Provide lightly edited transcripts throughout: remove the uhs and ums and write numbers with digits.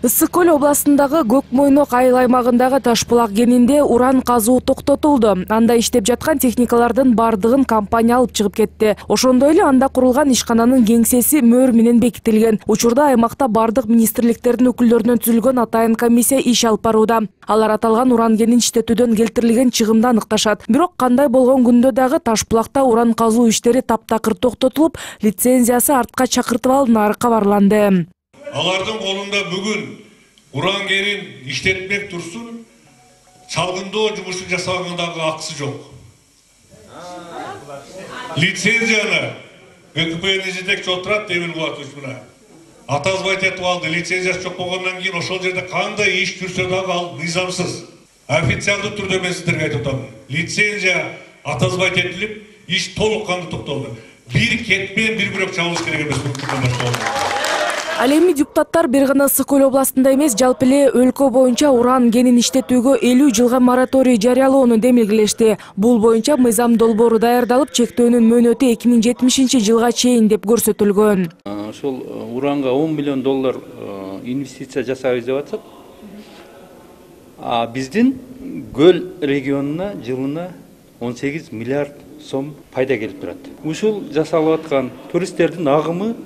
Ысык көл областындагы Көк Мойнок айыл аймагындагы Ташбулак кенинде уран казуу токтотулду. Анда иштеп жаткан техникалардын бардыгын компания алып чыгып кетти. Ошондой эле анда курулган ишкананын кеңсеси мөр менен бекитилген. Учурда аймакта бардык министрликтердин өкүлдөрүнөн түзүлгөн атайын комиссия иш алып барууда. Алар аталган уран кенин иштетүүдөн келтирилген чыгымды аныкташат. Бирок кандай болгон күндө дагы Ташбулакта уран казуу иштери таптакыр токтотулуп, лицензиясы артка чакыртып алынары кабарланды. Алардын колунда бүгүн уран кенин иштетмек турсун, чалгындоо жумушун жасагандагы акысы жок. Лицензияны ГКПны жетекчи отурат Демир Кубатович мына. Атазбайт этип алды, лицензиясы жок болгондон кийин ошол жерде кандай иш жүрсө дагы ал мыйзамсыз. Официалдуу түрдө мен сиздерге айтып атам. Лицензия атазбайт этилип, иш толук кандуу токтолду. Бир кетпен бир бирок чабылыш керек эмес. Ал эми депутаттар бир гана Ысык көл областында эмес, жалпы эле өлкө боюнча уран кенин иштетүүгө 50 жылга мораторий жарыялоону демилгелешти. Бул боюнча мыйзам долбоору даярдалып, чектөөнүн мөөнөтү 2070 жылга чейин деп көрсөтүлгөн. Ошол уранга $10 миллион инвестиция жасайбыз деп атышат. Биздин көл регионуна жылына 18 миллиард сом пайда келип турат. Ушул жасалып аткан туристтердин агымы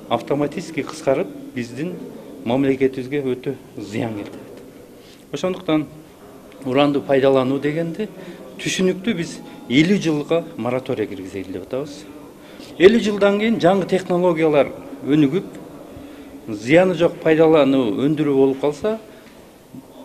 автоматически кыскарып, биздин мамлекетибизге өтө зыян келтирет. Ошондуктан уранды пайдалануу дегенде түшүнүктүү биз 50 жылга мораторий киргизели деп атабыз. 50 жылдан кийин жаңы технологиялар өнүгүп, зыяны жок пайдалануу өндүрүү болуп калса,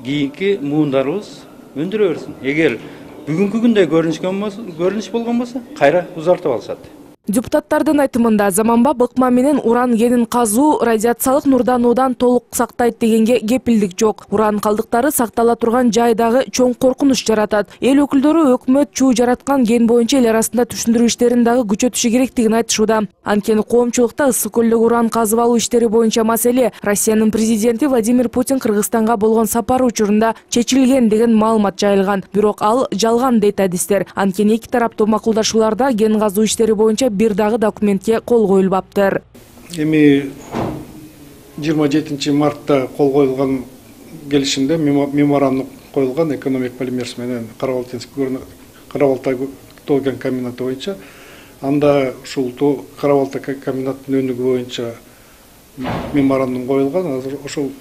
кийинки муундарыбыз өндүрө берсин. Эгер бүгүнкү күндө көрүнүш болгон болсо, кайра узартып алышат. Депутаттардын айтымында заманбап ыкма менен уран кенин казуу радиациялык нурдануудан толук сактайт дегенге кепилдик жок. Уран калдыктары сактала турган жайдагы чоң коркунуч жаратат. Эл өкүлдөрү өкмөт чуу жараткан кен боюнча эл арасында түшүндүрүү иштерин дагы күчөтүшү керектигин айтышууда. Анткени коомчулукта ысык көлдөгү уран казып алуу иштери боюнча маселе Россиянын президенти Владимир Путин Кыргызстанга болгон сапары учурунда чечилген деген маалымат жайылган. Бирок ал жалган дейт адистер. Анткени эки тараптуу макулдашууларда кен казуу иштери боюнча бир дагы документке кол коюлбаптыр. Эми 27 мартта кол коюлган келишимде меморандум коюлган экономик полимерс менен Карабалта тоо кен комбинаты боюнча. Анда ушул Карабалта комбинаттын өнүгүү боюнча меморандум коюлган. Азыр ошол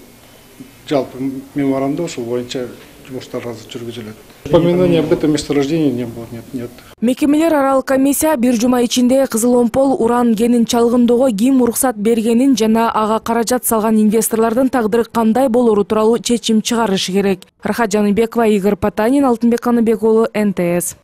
жалпы меморандум ушул боюнча жумуштар азыр жүргүзүлөт. Упоминания об этом месторождении не было, нет. Мекемелер аралык комиссия бир жума ичинде Кызыломпол уран кенин чалгындоого ким уруксат бергенин жана ага каражат салган инвесторлордун тагдыры кандай болору тууралуу чечим чыгарышы керек. Рахат Жаныбекова, Игорь Потанин, Алтынбек Каныбек уулу, НТС.